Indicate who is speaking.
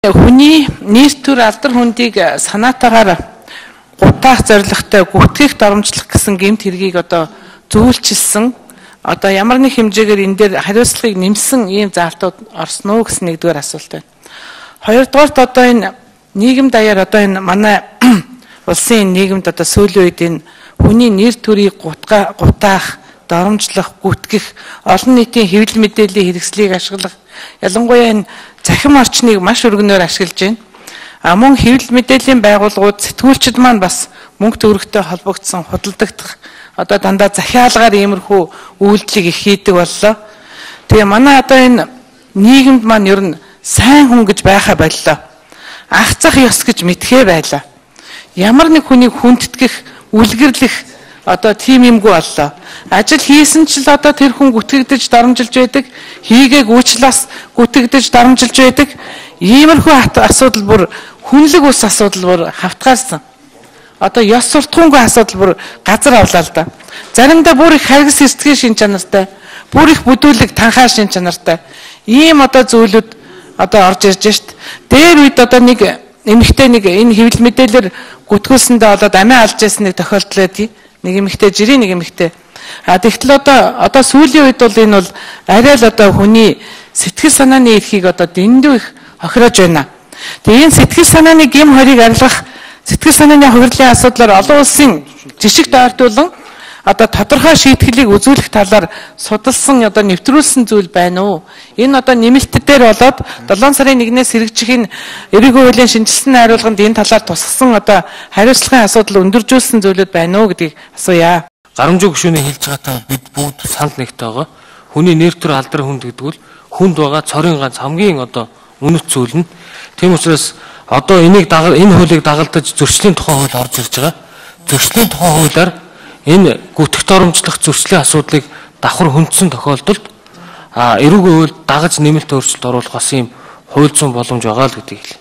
Speaker 1: Хүний нийт төр алдар хүндийг санаатаагаар гутаах зорилготой гүтгэх дарамжлах гэсэн гэмт хэргийг одоо зөвлөжилсөн одоо ямар нэг хэмжээгээр энэ дээр хариуцлагыг нэмсэн ийм заалтууд орсон уу гэсэн нэгдүгээр асуулт байна. Хоёрдугаарт одоо энэ нийгэм даяар одоо энэ манай улсын нийгэмд одоо сүүлийн үед энэ хүний нэр төрийг гутаах, дарамжлах, гүтгэх, олон нийтийн хэвлэл мэдээллийн хэрэгслийг ашиглах, ялангуяа энэ захим орчныг маш өргөнөөр ашиглаж байна. Мөн хэвлэл мэдээллийн байгууллагууд сэтгүүлчид маань бас мөнгө төгрөгтэй холбогдсон худалдагдах одоо дандаа захиалгаар иймэрхүү үйлдэлийг их хийдэг боллоо. Тэгээ манай одоо энэ нийгэмд маань ер нь сайн хүн гэж байхаа боллоо. Ах зах ёс гэж мэдхээ байлаа. Ямар нэг хүнийг хүндэтгэх, үлгэрлэх одоо тийм юмгүй боллоо. Ажил хийсэн ч л одоо тэр хүн гүтгэгдэж дарамжилж байдаг, хийгээгүйч л бас гүтгэгдэж дарамжилж байдаг. Иймэрхүү асуудал бүр хүнлэг ус асуудал бүр хавтгаарсан. Одоо ёс суртахуунгүй асуудал бүр газар авлаа л да. Заримдаа бүр их харгас эртгийн шин чанартай, бүр их бүдүүлэг танхаа шин чанартай. Ийм одоо зүйлүүд одоо орж ирж шít. Дээр үед одоо нэг эмэгтэй нэг энэ хэвлэл мэдээлэлээр гүтгүүлсэндээ болоод амиа алж ясан нэг тохиолдол байдгийг. Нэг эмэгтэй жирийн нэг эмэгтэй. Тэгтэл одоо сүүлийн үед бол энэ бол арай л одоо хүний сэтгэл санааны эрхийг одоо дэндүү их хохироож байна. Тэгээ энэ сэтгэл санааны гэм хорийг арилгах, сэтгэл санааны хувирлын асуудлаар олон улсын жишг дойртуулан одоо тодорхой шийтгэлийг үзүүлэх талаар судалсан одоо нэвтрүүлсэн зүйл байна уу? Энэ одоо нэмэлт дээр болоод 7 сарын 1-ээс хэрэгжих энэ эрүүгийн хуулийн шинжилсэн найруулганд энэ талаар тусгасан одоо хариуцлагын асуудал өндөржүүлсэн зүйлүүд байна уу гэдгийг асууя.
Speaker 2: Гарамжуу гишүүний хэлж байгаатай бид бүгд санд нэгтэй байгаа. Хүний нэр төр алдар хүнд гэдэг бол хүнд байгаа цорын ганц хамгийн одоо үнэт зүйл нь. Тийм учраас одоо энэ хуулийг дагалдаж зөрчлийн тухай хууль орж ирж байгаа. Зөрчлийн тухай хуулиар энэ гүтгэх дарамжлах зөрчлийн асуудлыг давхар хөндсөн тохиолдолд эрүүгийн хууль дагаж нэмэлт өөрчлөлт оруулах бас ийм хууль зүйн боломж байгаа л гэдгийг хэлээ.